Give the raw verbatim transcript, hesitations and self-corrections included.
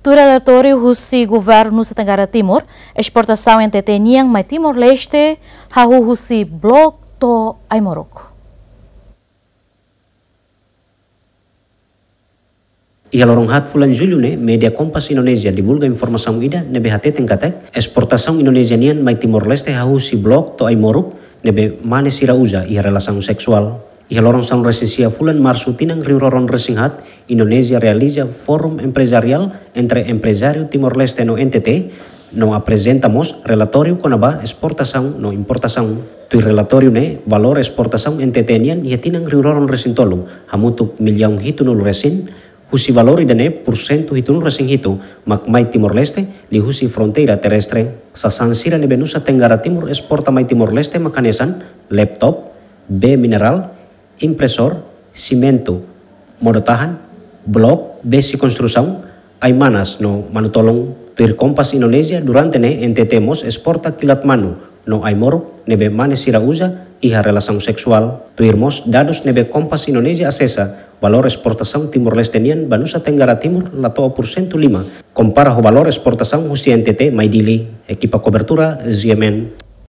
Tuir relatóriu husi Governu Nusa Tenggara Timur, esportasaun N T T nian mai Timor-Leste hahú husi Bloku to'o Aimoruk. Iha loron haat fulan Jullu ne'e, média Kompas Indonézia divulga informasaun ida ne'ebé hateten katak esportasaun Indonézia nian mai Timor-Leste hahú husi Bloku to'o Aimoruk ne'ebé mane sira uza iha relasaun seksuál. Iha loron sanulu-resin-sia fulan Marsu tinan rihun rua ruanulu-resin-haat, Indonézia realiza Forum Empresarial entre Emprezáriu Timor-Leste no N T T, no aprezenta mós relatóriu kona-ba esportasaun no importasaun. Tuir relatóriu ne'e, valór esportasaun N T T nian iha tinan rihun rua ruanulu-resin-tolu hamutuk millaun hitunulu-resin, husi valór ida-ne'e pursentu hitunulu-resin-hitu mak mai Timor-Leste liuhusi fronteira terrestre. Sasán sira ne'ebé Nusa Tenggara Timur esporta mai Timor-Leste mak hanesan laptop, bee minerál, impresór, simentu, modo-tahan, bloku, besi konstrusaun, ai-manas no manu-tolon. Tuir Kompas Indonézia, durante ne'e N T T mós esporta kilat manu no ai-moruk ne'ebé mane sira uza iha relasaun seksuál. Tuir mós dadus ne'ebé Kompas Indonézia asesa, valór esportasaun Timor-Leste nian ba Nusa Tenggara Timur la to'o pursentu lima, kompara ho valór esportasaun husi N T T mai Dili. Ekipa kobertura, Z M N.